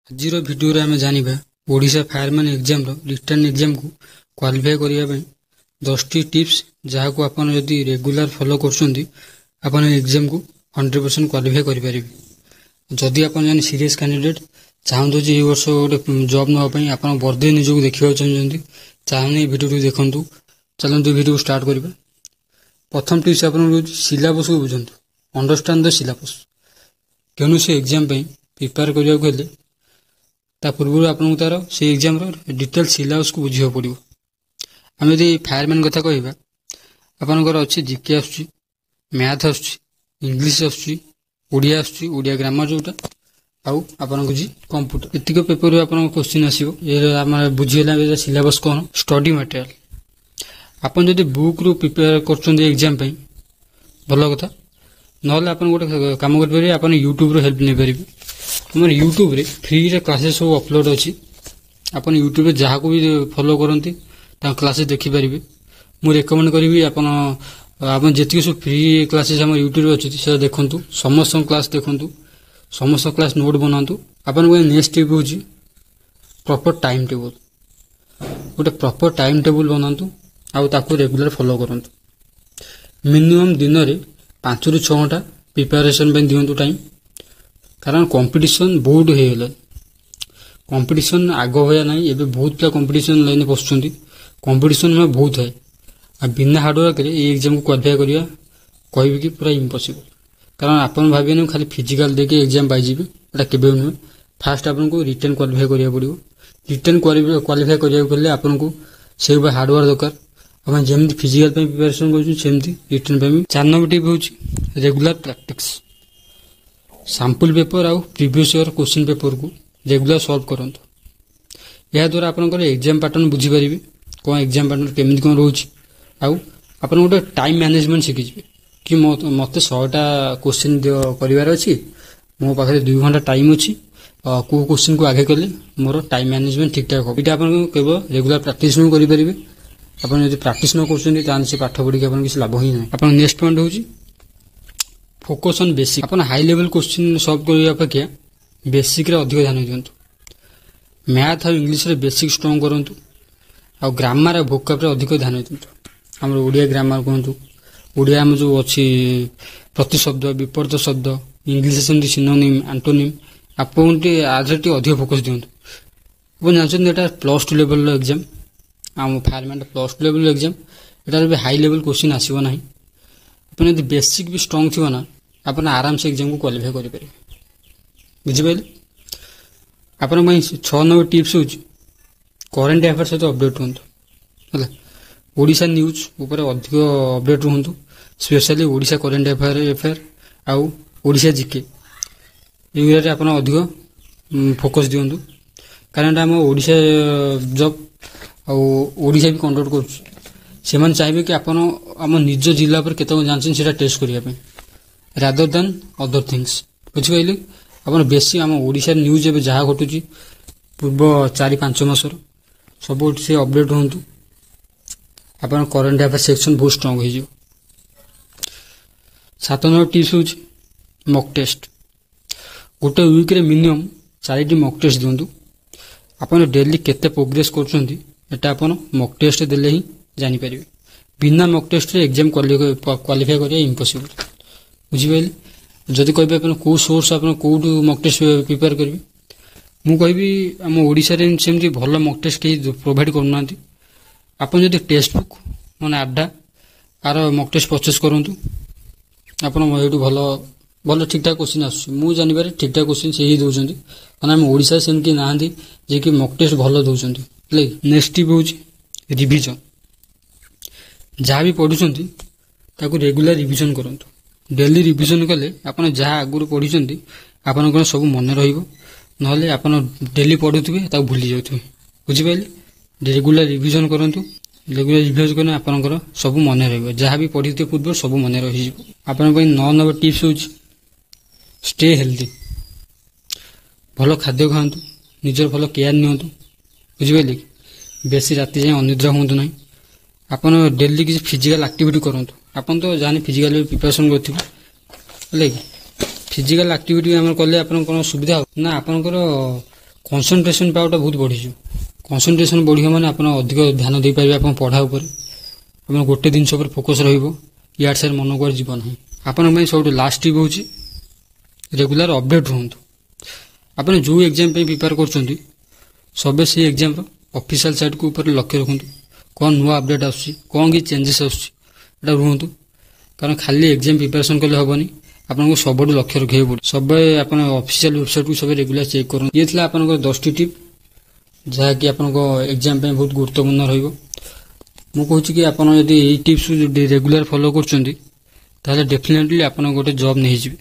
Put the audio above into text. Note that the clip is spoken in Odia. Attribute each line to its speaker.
Speaker 1: ଆଜିର ଭିଡ଼ିଓରେ ଆମେ ଜାଣିବା ଓଡ଼ିଶା ଫାୟାରମ୍ୟାନ୍ ଏକ୍ଜାମ୍ର ରିଟେନ୍ ଏକ୍ଜାମ୍କୁ କ୍ୱାଲିଫାଏ କରିବା ପାଇଁ 10ଟି ଟିପ୍ସ, ଯାହାକୁ ଆପଣ ଯଦି ରେଗୁଲାର ଫଲୋ କରୁଛନ୍ତି, ଆପଣ ଏକ୍ଜାମ୍କୁ 100% କ୍ୱାଲିଫାଏ କରିପାରିବେ। ଯଦି ଆପଣ ଜଣେ ସିରିୟସ୍ କ୍ୟାଣ୍ଡିଡେଟ୍ ଚାହୁଁଛନ୍ତି ଯେ ଏଇ ବର୍ଷ ଗୋଟେ ଜବ୍ ନେବା ପାଇଁ, ଆପଣ ବର୍ଦ୍ଧି ନିଜକୁ ଦେଖିବାକୁ ଚାହୁଁଛନ୍ତି, ତାହେଲେ ଏଇ ଭିଡ଼ିଓଟିକୁ ଦେଖନ୍ତୁ। ଚାଲନ୍ତୁ, ଭିଡ଼ିଓକୁ ଷ୍ଟାର୍ଟ କରିବା। ପ୍ରଥମ ଟିପ୍ସ ଆପଣଙ୍କୁ ରହୁଛି, ସିଲାବସ୍କୁ ବୁଝନ୍ତୁ। Understand the syllabus. କୌଣସି ଏକ୍ଜାମ୍ ପାଇଁ ପ୍ରିପେୟାର କରିବାକୁ ହେଲେ ତା ପୂର୍ବରୁ ଆପଣଙ୍କୁ ତାର ସେଇ ଏକ୍ଜାମ୍ର ଡିଟେଲ୍ ସିଲାବସ୍କୁ ବୁଝିବାକୁ ପଡ଼ିବ। ଆମେ ଯଦି ଫାୟାରମ୍ୟାନ୍ କଥା କହିବା, ଆପଣଙ୍କର ଅଛି ଜିକେ ଆସୁଛି, ମ୍ୟାଥ୍ ଆସୁଛି, ଇଂଲିଶ ଆସୁଛି, ଓଡ଼ିଆ ଆସୁଛି, ଓଡ଼ିଆ ଗ୍ରାମାର ଯେଉଁଟା, ଆଉ ଆପଣଙ୍କୁ ଜି କମ୍ପ୍ୟୁଟର। ଏତିକ ପେପରରୁ ଆପଣଙ୍କ କୋଶ୍ଚିନ୍ ଆସିବ। ଏ ଆମର ବୁଝିଗଲା ସିଲାବସ୍ କ'ଣ। ଷ୍ଟଡି ମ୍ୟାଟେରିଆଲ, ଆପଣ ଯଦି ବୁକ୍ରୁ ପ୍ରିପେୟାର କରୁଛନ୍ତି ଏକ୍ଜାମ୍ ପାଇଁ, ଭଲ କଥା। ନହେଲେ ଆପଣ ଗୋଟେ କାମ କରିପାରିବେ, ଆପଣ ୟୁଟ୍ୟୁବ୍ରୁ ହେଲ୍ପ ନେଇପାରିବେ। ଆମର ୟୁଟ୍ୟୁବ୍ରେ ଫ୍ରିରେ କ୍ଲାସେସ୍ ସବୁ ଅପଲୋଡ଼ ଅଛି। ଆପଣ ୟୁଟ୍ୟୁବ୍ରେ ଯାହାକୁ ବି ଫଲୋ କରନ୍ତି, ତାଙ୍କ କ୍ଲାସେସ୍ ଦେଖିପାରିବେ। ମୁଁ ରେକମେଣ୍ଡ କରିବି, ଆପଣ ଯେତିକି ସବୁ ଫ୍ରି କ୍ଲାସେସ୍ ଆମ ୟୁଟ୍ୟୁବ୍ରେ ଅଛି, ସେଟା ଦେଖନ୍ତୁ। ସମସ୍ତଙ୍କ କ୍ଲାସ୍ ଦେଖନ୍ତୁ, ସମସ୍ତଙ୍କ କ୍ଲାସ୍ ନୋଟ୍ ବନାନ୍ତୁ। ଆପଣଙ୍କ ନେକ୍ସଟ ଟିପ୍ ହେଉଛି ପ୍ରପର୍ ଟାଇମ୍ ଟେବୁଲ୍। ଗୋଟେ ପ୍ରପର୍ ଟାଇମ୍ ଟେବୁଲ୍ ବନାନ୍ତୁ ଆଉ ତାକୁ ରେଗୁଲାର ଫଲୋ କରନ୍ତୁ। ମିନିମମ୍ ଦିନରେ 5ରୁ 6 ଘଣ୍ଟା ପ୍ରିପାରେସନ୍ ପାଇଁ ଦିଅନ୍ତୁ ଟାଇମ୍, କାରଣ କମ୍ପିଟିସନ୍ ବହୁତ ହେଇଗଲାଣି। କମ୍ପିଟିସନ୍ ଆଗ ଭଳିଆ ନାହିଁ। ଏବେ ବହୁତ ପିଲା କମ୍ପିଟିସନ୍ ଲାଇନ୍ରେ ପଶୁଛନ୍ତି। କମ୍ପିଟିସନ୍ ବହୁତ ଥାଏ ଆଉ ବିନା ହାର୍ଡ଼ୱାର୍କରେ ଏଇ ଏକ୍ଜାମ୍କୁ କ୍ୱାଲିଫାଏ କରିବା କହିବି କି ପୁରା ଇମ୍ପସିବଲ୍। କାରଣ ଆପଣ ଭାବିବେନି ଖାଲି ଫିଜିକାଲ୍ ଦେଇକି ଏକ୍ଜାମ୍ ପାଇଯିବେ, ଏଇଟା କେବେ ବି ନୁହେଁ। ଫାଷ୍ଟ ଆପଣଙ୍କୁ ରିଟେନ୍ କ୍ୱାଲିଫାଏ କରିବାକୁ ପଡ଼ିବ। ରିଟେନ୍ କ୍ୱାଲିଫାଏ କରିବାକୁ ହେଲେ ଆପଣଙ୍କୁ ସେଇଭଳିଆ ହାର୍ଡ଼ୱାର୍କ ଦରକାର। ଆପଣ ଯେମିତି ଫିଜିକାଲ୍ ପାଇଁ ପ୍ରିପାରେସନ୍ କରୁଛନ୍ତି, ସେମିତି ରିଟେନ୍ ପାଇଁ ବି। 4 ନମ୍ବର ଟିପ୍ ହେଉଛି ରେଗୁଲାର ପ୍ରାକ୍ଟିସ୍। ସାମ୍ପୁଲ୍ ପେପର୍ ଆଉ ପ୍ରିଭିୟସ୍ ଇୟର୍ କୋଶ୍ଚିନ୍ ପେପର୍କୁ ରେଗୁଲାର ସଲ୍ଭ କରନ୍ତୁ। ଏହାଦ୍ୱାରା ଆପଣଙ୍କର ଏକ୍ଜାମ୍ ପାଟର୍ନ ବୁଝିପାରିବେ, କ'ଣ ଏକ୍ଜାମ୍ ପାଟର୍ନ କେମିତି କ'ଣ ରହୁଛି, ଆଉ ଆପଣ ଗୋଟେ ଟାଇମ୍ ମ୍ୟାନେଜମେଣ୍ଟ ଶିଖିଯିବେ କି ମୋତେ 100ଟା କୋଶ୍ଚିନ୍ କରିବାର ଅଛି, ମୋ ପାଖରେ 2 ଘଣ୍ଟା ଟାଇମ୍ ଅଛି, କେଉଁ କୋଶ୍ଚିନ୍କୁ ଆଗେ କଲେ ମୋର ଟାଇମ୍ ମ୍ୟାନେଜମେଣ୍ଟ ଠିକ୍ଠାକ୍ ହେବ। ଏଇଟା ଆପଣ କେବଳ ରେଗୁଲାର ପ୍ରାକ୍ଟିସ୍ ହିଁ କରିପାରିବେ। ଆପଣ ଯଦି ପ୍ରାକ୍ଟିସ୍ ନ କରୁଛନ୍ତି, ତାହେଲେ ସେ ପାଠ ପଢ଼ିକି ଆପଣ କିଛି ଲାଭ ହିଁ ନାହିଁ। ଆପଣ ନେକ୍ସଟ ପଏଣ୍ଟ ହେଉଛି ଫୋକସ୍ ଅନ୍ ବେସିକ୍। ଆପଣ ହାଇ ଲେଭେଲ୍ କୋଶ୍ଚିନ୍ ସଲ୍ଭ କରିବା ଅପେକ୍ଷା ବେସିକ୍ରେ ଅଧିକ ଧ୍ୟାନ ଦିଅନ୍ତୁ। ମ୍ୟାଥ୍ ଆଉ ଇଂଲିଶରେ ବେସିକ୍ ଷ୍ଟ୍ରଙ୍ଗ କରନ୍ତୁ ଆଉ ଗ୍ରାମାର ଆଉ ଭୋକାବରେ ଅଧିକ ଧ୍ୟାନ ଦିଅନ୍ତୁ। ଆମର ଓଡ଼ିଆ ଗ୍ରାମାର କୁହନ୍ତୁ, ଓଡ଼ିଆ ଆମ ଯେଉଁ ଅଛି ପ୍ରତିଶବ୍ଦ, ବିପରୀତ ଶବ୍ଦ, ଇଂଲିଶ ସେମିତି ସିନୋନିମ୍, ଆଣ୍ଟୋନିମ୍, ଆପଣ ଟିକେ ଆଧିରେ ଟିକେ ଅଧିକ ଫୋକସ୍ ଦିଅନ୍ତୁ। ଆପଣ ଜାଣିଛନ୍ତି, ଏଇଟା +2 ଲେଭେଲର ଏକ୍ଜାମ୍। ଆମ ଫାୟାରମ୍ୟାନ୍ +2 ଲେଭେଲର ଏକ୍ଜାମ୍, ଏଟାରେ ବି ହାଇ ଲେଭେଲ୍ କୋଶ୍ଚିନ୍ ଆସିବ ନାହିଁ। ଆପଣ ଯଦି ବେସିକ୍ ବି ଷ୍ଟ୍ରଙ୍ଗ ଥିବ ନା, ଆପଣ ଆରାମସେ ଏକ୍ଜାମ୍କୁ କ୍ୱାଲିଫାଏ କରିପାରିବେ। ବୁଝିପାରିଲେ? ଆପଣଙ୍କ ପାଇଁ 6 ନମ୍ବର ଟିପ୍ସ ହେଉଛି କରେଣ୍ଟ ଆଫେୟାର ସହିତ ଅପଡେଟ୍ ରୁହନ୍ତୁ। ହେଲା, ଓଡ଼ିଶା ନ୍ୟୁଜ୍ ଉପରେ ଅଧିକ ଅପଡେଟ୍ ରୁହନ୍ତୁ, ସ୍ପେଶାଲି ଓଡ଼ିଶା କରେଣ୍ଟ ଆଫେୟାର ଆଉ ଓଡ଼ିଶା ଜିକେ, ଏଇଗୁଡ଼ାରେ ଆପଣ ଅଧିକ ଫୋକସ୍ ଦିଅନ୍ତୁ। କାରଣ ଏଇଟା ଆମ ଓଡ଼ିଶା ଜବ୍ ଆଉ ଓଡ଼ିଶା ବି କଣ୍ଡକ୍ଟ କରୁଛି। ସେମାନେ ଚାହିଁବେ କି ଆପଣ ଆମ ନିଜ ଜିଲ୍ଲା ଉପରେ କେତେ କ'ଣ ଜାଣିଛନ୍ତି, ସେଇଟା ଟେଷ୍ଟ କରିବା ପାଇଁ, ରାଦର ଦାନ୍ ଅଦର ଥିଙ୍ଗସ୍। ବୁଝିପାରିଲେ? ଆପଣ ବେଶୀ ଆମ ଓଡ଼ିଶାର ନ୍ୟୁଜ୍, ଏବେ ଯାହା ଘଟୁଛି ପୂର୍ବ 4-5 ମାସର, ସବୁ ସେ ଅପଡେଟ୍ ରୁହନ୍ତୁ। ଆପଣ କରେଣ୍ଟ ଆଫେୟାର ସେକ୍ସନ୍ ବହୁତ ଷ୍ଟ୍ରଙ୍ଗ ହେଇଯିବ। 7 ନମ୍ବର ଟିପ୍ସ ହେଉଛି ମକ୍ ଟେଷ୍ଟ। ଗୋଟେ ୱିକ୍ରେ ମିନିମମ୍ ଚାରିଟି ମକ୍ ଟେଷ୍ଟ ଦିଅନ୍ତୁ। ଆପଣ ଡେଲି କେତେ ପ୍ରୋଗ୍ରେସ୍ କରୁଛନ୍ତି, ଏଟା ଆପଣ ମକ୍ ଟେଷ୍ଟ ଦେଲେ ହିଁ ଜାଣିପାରିବେ। ବିନା ମକ୍ ଟେଷ୍ଟରେ ଏକ୍ଜାମ୍ କ୍ୱାଲିଫାଏ କରିବା ଇମ୍ପସିବଲ୍। ବୁଝିପାରିଲେ? ଯଦି କହିବେ ଆପଣ କେଉଁ ସୋର୍ସ, ଆପଣ କେଉଁଠୁ ମକ୍ ଟେଷ୍ଟ ପ୍ରିପେୟାର କରିବେ, ମୁଁ କହିବି ଆମ ଓଡ଼ିଶାରେ ସେମିତି ଭଲ ମକ୍ ଟେଷ୍ଟ କେହି ପ୍ରୋଭାଇଡ଼ କରୁନାହାନ୍ତି। ଆପଣ ଯଦି ଟେକ୍ସଟ ବୁକ୍ ମାନେ ଆଡ୍ଡା ଆର ମକ୍ ଟେଷ୍ଟ ପରଚେସ୍ କରନ୍ତୁ, ଆପଣ ଏଇଠୁ ଭଲ ଭଲ ଠିକ୍ଠାକ୍ କୋଶ୍ଚିନ୍ ଆସୁଛି। ମୁଁ ଜାଣିବାରେ ଠିକ୍ଠାକ୍ କୋଶ୍ଚିନ୍ ସେ ହିଁ ଦେଉଛନ୍ତି, କାରଣ ଆମ ଓଡ଼ିଶାରେ ସେମିତି ନାହାନ୍ତି ଯିଏକି ମକ୍ ଟେଷ୍ଟ ଭଲ ଦେଉଛନ୍ତି। ହେଲା କି? ନେକ୍ସଟ ଟିପ୍ ହେଉଛି ରିଭିଜନ୍। ଯାହା ବି ପଢ଼ୁଛନ୍ତି, ତାକୁ ରେଗୁଲାର ରିଭିଜନ୍ କରନ୍ତୁ। ଡେଲି ରିଭିଜନ୍ କଲେ ଆପଣ ଯାହା ଆଗରୁ ପଢ଼ିଛନ୍ତି, ଆପଣଙ୍କର ସବୁ ମନେ ରହିବ। ନହେଲେ ଆପଣ ଡେଲି ପଢ଼ୁଥିବେ, ତାକୁ ଭୁଲି ଯାଉଥିବେ। ବୁଝିପାରିଲେ? ରେଗୁଲାର ରିଭିଜନ୍ କରନ୍ତୁ। ରେଗୁଲାର ରିଭିଜନ୍ କଲେ ଆପଣଙ୍କର ସବୁ ମନେ ରହିବ। ଯାହା ବି ପଢ଼ିଥିବେ ପୂର୍ବରୁ, ସବୁ ମନେ ରହିଯିବ। ଆପଣଙ୍କ ପାଇଁ 9 ନମ୍ବର ଟିପ୍ସ ହେଉଛି ଷ୍ଟେ ହେଲ୍ଦି। ଭଲ ଖାଦ୍ୟ ଖାଆନ୍ତୁ, ନିଜର ଭଲ କେୟାର ନିଅନ୍ତୁ। ବୁଝିପାରିଲେ କି? ବେଶୀ ରାତି ଯାଏଁ ଅନିଦ୍ରା ହୁଅନ୍ତୁ ନାହିଁ। ଆପଣ ଡେଲି କିଛି ଫିଜିକାଲ ଆକ୍ଟିଭିଟି କରନ୍ତୁ। ଆପଣ ତ ଜାଣି ଫିଜିକାଲ ପ୍ରିପାରେସନ୍ କରିଥିବେ। ହେଲା କି? ଫିଜିକାଲ ଆକ୍ଟିଭିଟି ଆମର କଲେ ଆପଣ କ'ଣ ସୁବିଧା ହେବ ନା, ଆପଣଙ୍କର କନସେନ୍ଟ୍ରେସନ୍ ପାୱାରଟା ବହୁତ ବଢ଼ିଯିବ। କନସେନ୍ଟ୍ରେସନ୍ ବଢ଼ିବ ମାନେ ଆପଣ ଅଧିକ ଧ୍ୟାନ ଦେଇପାରିବେ ଆପଣ ପଢ଼ା ଉପରେ। ଆପଣ ଗୋଟେ ଜିନିଷ ଉପରେ ଫୋକସ୍ ରହିବ, ଇଆଡ଼େ ସିଆଡ଼େ ମନ କୁଆଡ଼େ ଯିବ ନାହିଁ। ଆପଣଙ୍କ ପାଇଁ ସବୁଠୁ ଲାଷ୍ଟ ଟିପ୍ ହେଉଛି ରେଗୁଲାର ଅପଡେଟ୍ ରୁହନ୍ତୁ। ଆପଣ ଯେଉଁ ଏକ୍ଜାମ୍ ପାଇଁ ପ୍ରିପେୟାର କରୁଛନ୍ତି, ସବେ ସେଇ ଏକ୍ଜାମ୍ର ଅଫିସିଆଲ୍ ସାଇଟ୍କୁ ଉପରେ ଲକ୍ଷ୍ୟ ରଖନ୍ତୁ। କ'ଣ ନୂଆ ଅପଡେଟ୍ ଆସୁଛି, କ'ଣ କି ଚେଞ୍ଜେସ୍ ଆସୁଛି, ଏଇଟା ରୁହନ୍ତୁ। କାରଣ ଖାଲି ଏକ୍ଜାମ୍ ପ୍ରିପାରେସନ୍ କଲେ ହେବନି, ଆପଣଙ୍କୁ ସବୁଠୁ ଲକ୍ଷ୍ୟ ରଖିବାକୁ ପଡ଼ିବ। ସବୁବେଳେ ଆପଣ ଅଫିସିଆଲ୍ ୱେବସାଇଟ୍କୁ ସବୁ ରେଗୁଲାର ଚେକ୍ କରନ୍ତୁ। ଇଏ ଥିଲା ଆପଣଙ୍କର 10ଟି ଟିପ୍, ଯାହାକି ଆପଣଙ୍କ ଏକ୍ଜାମ୍ ପାଇଁ ବହୁତ ଗୁରୁତ୍ୱପୂର୍ଣ୍ଣ ରହିବ। ମୁଁ କହୁଛି କି ଆପଣ ଯଦି ଏଇ ଟିପ୍ସ ରେଗୁଲାର ଫଲୋ କରୁଛନ୍ତି, ତାହେଲେ ଡେଫିନେଟଲି ଆପଣ ଗୋଟେ ଜବ୍ ନେଇଯିବେ।